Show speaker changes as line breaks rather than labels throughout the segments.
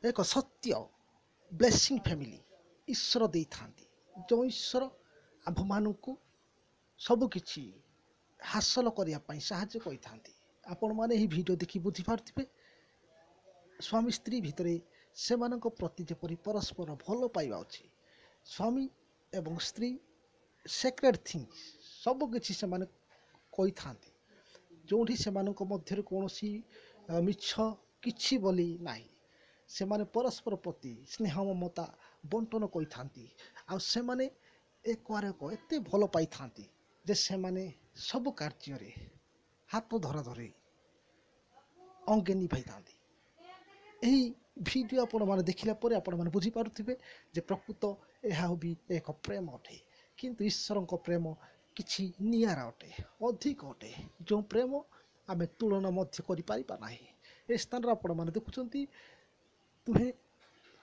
ଏକ ସତ୍ୟ blessing family ଈଶ୍ୱର ଦେଇଥାନ୍ତି, ଯେଉଁ ଈଶ୍ୱର ଆମ୍ଭମାନଙ୍କୁ ସବୁକିଛି ହାସଲ କରିବା ପାଇଁ ସାହାଯ୍ୟ କରିଥାନ୍ତି। ଆପଣମାନେ ଏହି ଭିଡ଼ିଓ ଦେଖି ବୁଝିପାରୁଥିବେ, ସ୍ୱାମୀ ସ୍ତ୍ରୀ ଭିତରେ ସେମାନଙ୍କ ପ୍ରତି ଯେପରି ପରସ୍ପର ଭଲ ପାଇବା ଅଛି। ସ୍ୱାମୀ ଏବଂ ସ୍ତ୍ରୀ ସେକ୍ରେଟ୍ ଥିଙ୍ଗସ୍ ସବୁକିଛି ସେମାନେ କହିଥାନ୍ତି, ଯେଉଁଠି ସେମାନଙ୍କ ମଧ୍ୟରେ କୌଣସି ମିଛ କିଛି ବୋଲି ନାହିଁ। ସେମାନେ ପରସ୍ପର ପ୍ରତି ସ୍ନେହ ମମତା ବଣ୍ଟନ କରିଥାନ୍ତି, ଆଉ ସେମାନେ ଏକ ଆରେକ ଏତେ ଭଲ ପାଇଥାନ୍ତି ଯେ ସେମାନେ ସବୁ କାର୍ଯ୍ୟରେ ହାତ ଧରାଧରି ଅଙ୍ଗେ ନିଭାଇଥାନ୍ତି। ଏହି ଭିଡ଼ିଓ ଆପଣମାନେ ଦେଖିଲା ପରେ ଆପଣମାନେ ବୁଝିପାରୁଥିବେ ଯେ ପ୍ରକୃତ ଏହା ବି ଏକ ପ୍ରେମ ଅଟେ, କିନ୍ତୁ ଈଶ୍ୱରଙ୍କ ପ୍ରେମ କିଛି ନିଆରା ଅଟେ, ଅଧିକ ଅଟେ, ଯେଉଁ ପ୍ରେମ ଆମେ ତୁଳନା ମଧ୍ୟ କରିପାରିବା ନାହିଁ। ଏ ସ୍ଥାନରେ ଆପଣମାନେ ଦେଖୁଛନ୍ତି ଦୁହେଁ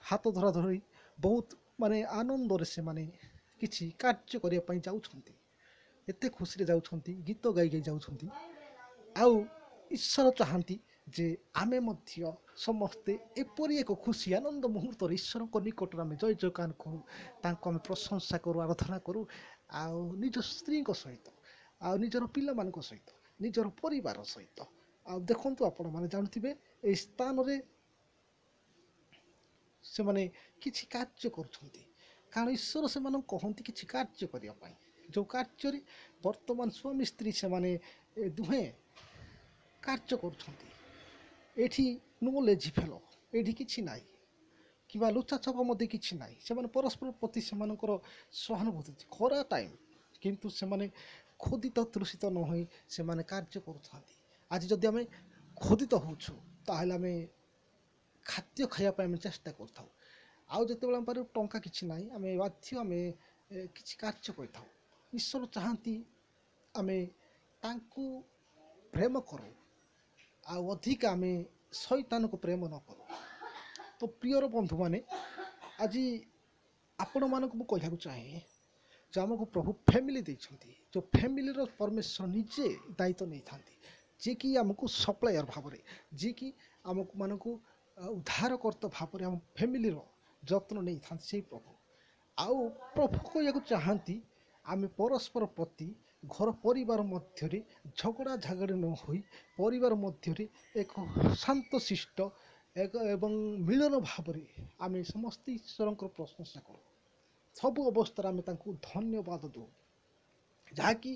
ହାତ ଧରାଧରି ବହୁତ ମାନେ ଆନନ୍ଦରେ ସେମାନେ କିଛି କାର୍ଯ୍ୟ କରିବା ପାଇଁ ଯାଉଛନ୍ତି, ଏତେ ଖୁସିରେ ଯାଉଛନ୍ତି, ଗୀତ ଗାଇ ଗାଇ ଯାଉଛନ୍ତି। ଆଉ ଈଶ୍ୱର ଚାହାନ୍ତି ଯେ ଆମେ ମଧ୍ୟ ସମସ୍ତେ ଏପରି ଏକ ଖୁସି ଆନନ୍ଦ ମୁହୂର୍ତ୍ତରେ ଈଶ୍ୱରଙ୍କ ନିକଟରେ ଆମେ ଜୟ ଜୟକାର କରୁ, ତାଙ୍କୁ ଆମେ ପ୍ରଶଂସା କରୁ, ଆରାଧନା କରୁ, ଆଉ ନିଜ ସ୍ତ୍ରୀଙ୍କ ସହିତ, ଆଉ ନିଜର ପିଲାମାନଙ୍କ ସହିତ, ନିଜର ପରିବାର ସହିତ। ଆଉ ଦେଖନ୍ତୁ ଆପଣମାନେ ଜାଣୁଥିବେ ଏହି ସ୍ଥାନରେ ସେମାନେ କିଛି କାର୍ଯ୍ୟ କରୁଛନ୍ତି, କାରଣ ଈଶ୍ୱର ସେମାନଙ୍କୁ କହନ୍ତି କିଛି କାର୍ଯ୍ୟ କରିବା ପାଇଁ, ଯେଉଁ କାର୍ଯ୍ୟରେ ବର୍ତ୍ତମାନ ସ୍ୱାମୀ ସ୍ତ୍ରୀ ସେମାନେ ଦୁହେଁ କାର୍ଯ୍ୟ କରୁଛନ୍ତି। ଏଠି ନୋ ଲେଜି ଫେଲୋ, ଏଠି କିଛି ନାହିଁ, କିମ୍ବା ଲୁଚାଛପା ମଧ୍ୟ କିଛି ନାହିଁ। ସେମାନେ ପରସ୍ପର ପ୍ରତି ସେମାନଙ୍କର ସହାନୁଭୂତି ଅଛି, ଖରା ଟାଇମ୍ କିନ୍ତୁ ସେମାନେ ଖୋଦିତ ତୃଷିତ ନ ହୋଇ ସେମାନେ କାର୍ଯ୍ୟ କରୁଥାନ୍ତି। ଆଜି ଯଦି ଆମେ ଖୋଦିତ ହେଉଛୁ ତାହେଲେ ଆମେ ଖାଦ୍ୟ ଖାଇବା ପାଇଁ ଆମେ ଚେଷ୍ଟା କରିଥାଉ, ଆଉ ଯେତେବେଳେ ଆମ ପାଖରେ ଟଙ୍କା କିଛି ନାହିଁ ଆମେ ବାଧ୍ୟ ଆମେ କିଛି କାର୍ଯ୍ୟ କରିଥାଉ। ଈଶ୍ୱର ଚାହାନ୍ତି ଆମେ ତାଙ୍କୁ ପ୍ରେମ କରୁ, ଆଉ ଅଧିକ ଆମେ ଶୈତାନକୁ ପ୍ରେମ ନ କରୁ। ତ ପ୍ରିୟର ବନ୍ଧୁମାନେ, ଆଜି ଆପଣମାନଙ୍କୁ ମୁଁ କହିବାକୁ ଚାହେଁ ଯେ ଆମକୁ ପ୍ରଭୁ ଫ୍ୟାମିଲି ଦେଇଛନ୍ତି, ଯେଉଁ ଫ୍ୟାମିଲିର ପରମେଶ୍ୱର ନିଜେ ଦାୟିତ୍ୱ ନେଇଥାନ୍ତି, ଯିଏକି ଆମକୁ ସପ୍ଲାୟର ଭାବରେ, ଯିଏକି ଆମକୁ ମାନଙ୍କୁ ଉଦ୍ଧାରକର୍ତ୍ତା ଭାବରେ ଆମ ଫ୍ୟାମିଲିର ଯତ୍ନ ନେଇଥାନ୍ତି ସେଇ ପ୍ରଭୁ। ଆଉ ପ୍ରଭୁ କହିବାକୁ ଚାହାନ୍ତି ଆମେ ପରସ୍ପର ପ୍ରତି ଘର ପରିବାର ମଧ୍ୟରେ ଝଗଡ଼ା ଝାଗଡ଼ି ନ ହୋଇ ପରିବାର ମଧ୍ୟରେ ଏକ ଶାନ୍ତଶିଷ୍ଟ ଏକ ଏବଂ ମିଳନ ଭାବରେ ଆମେ ସମସ୍ତେ ଈଶ୍ୱରଙ୍କର ପ୍ରଶଂସା କରୁ। ସବୁ ଅବସ୍ଥାରେ ଆମେ ତାଙ୍କୁ ଧନ୍ୟବାଦ ଦେଉ, ଯାହାକି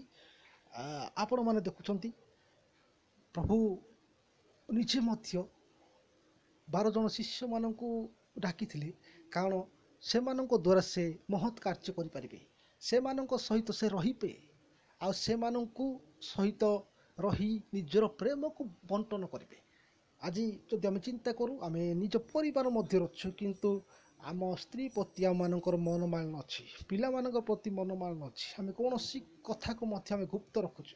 ଆପଣମାନେ ଦେଖୁଛନ୍ତି ପ୍ରଭୁ ନିଜେ ମଧ୍ୟ 12 ଜଣ ଶିଷ୍ୟମାନଙ୍କୁ ଡାକିଥିଲେ, କାରଣ ସେମାନଙ୍କ ଦ୍ୱାରା ସେ ମହତ୍ କାର୍ଯ୍ୟ କରିପାରିବେ, ସେମାନଙ୍କ ସହିତ ସେ ରହିବେ, ଆଉ ସେମାନଙ୍କୁ ସହିତ ରହି ନିଜର ପ୍ରେମକୁ ବଣ୍ଟନ କରିବେ। ଆଜି ଯଦି ଆମେ ଚିନ୍ତା କରୁ, ଆମେ ନିଜ ପରିବାର ମଧ୍ୟରେ ଅଛୁ, କିନ୍ତୁ ଆମ ସ୍ତ୍ରୀ ପ୍ରତି ଆମମାନଙ୍କର ମନମାଳିନ ଅଛି, ପିଲାମାନଙ୍କ ପ୍ରତି ମନମାଳିନ ଅଛି, ଆମେ କୌଣସି କଥାକୁ ମଧ୍ୟ ଆମେ ଗୁପ୍ତ ରଖୁଛୁ,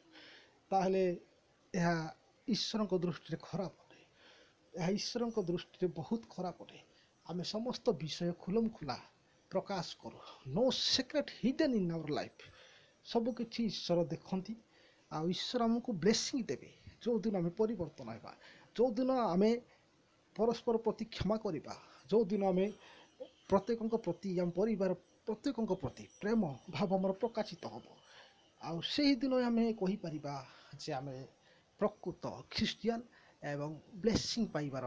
ତାହେଲେ ଏହା ଈଶ୍ୱରଙ୍କ ଦୃଷ୍ଟିରେ ଖରାପ ଅଟେ। ଏହା ଈଶ୍ୱରଙ୍କ ଦୃଷ୍ଟିରେ ବହୁତ ଖରାପ ଅଟେ। ଆମେ ସମସ୍ତ ବିଷୟ ଖୁଲମ ଖୁଲା ପ୍ରକାଶ କରୁ, no secret hidden in our life. ସବୁକିଛି ଈଶ୍ୱର ଦେଖନ୍ତି, ଆଉ ଈଶ୍ୱର ଆମକୁ ବ୍ଲେସିଂ ଦେବେ ଯେଉଁଦିନ ଆମେ ପରିବର୍ତ୍ତନ ହେବା, ଯେଉଁଦିନ ଆମେ ପରସ୍ପର ପ୍ରତି କ୍ଷମା କରିବା, ଯେଉଁଦିନ ଆମେ ପ୍ରତ୍ୟେକଙ୍କ ପ୍ରତି, ଆମ ପରିବାର ପ୍ରତ୍ୟେକଙ୍କ ପ୍ରତି ପ୍ରେମ ଭାବ ଆମର ପ୍ରକାଶିତ ହେବ, ଆଉ ସେହିଦିନ ଆମେ କହିପାରିବା ଯେ ଆମେ ପ୍ରକୃତ ଖ୍ରୀଷ୍ଟିଆନ ଏବଂ ବ୍ଲେସିଂ ପାଇବାର